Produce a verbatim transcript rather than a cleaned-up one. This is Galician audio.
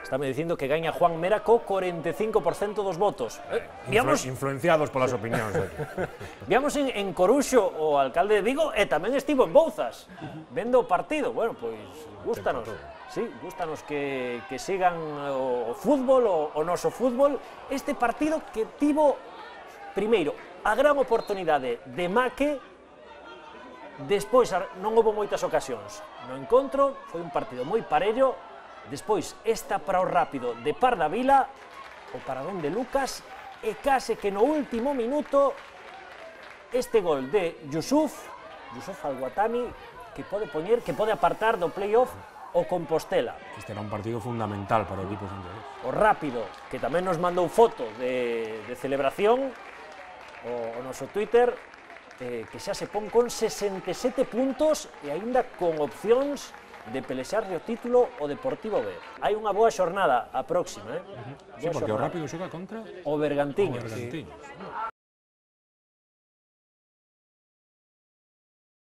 Estame dicindo que gaña Juan Mera co cuarenta y cinco por ciento dos votos. Eh, viamos, Influ influenciados polas opinións. viamos en, en Coruxo o alcalde de Vigo e tamén estivo en Bouzas, vendo o partido. Bueno, pois, gústanos. Sí, gústanos que, que sigan o, o fútbol, o, o noso fútbol. Este partido que tivo, primeiro, a gran oportunidade de Maque, despois non houve moitas ocasións. No encontro foi un partido moi parello. Despois, esta para o rápido de Pardavila, o paradón de Lucas, e case que no último minuto, este gol de Yusuf, Yusuf Al-Watani, que pode poñer, que pode apartar do playoff o Compostela. Este era un partido fundamental para o equipo santiagués. O rápido, que tamén nos mandou foto de, de celebración, o, o noso Twitter, eh, que xa se pon con sesenta e sete puntos e aínda con opcións de pelexarle o título o Deportivo B. Hai unha boa xornada a próxima, eh? Sí, porque o Rápido xoga contra o Bergantiños. o Bergantiños.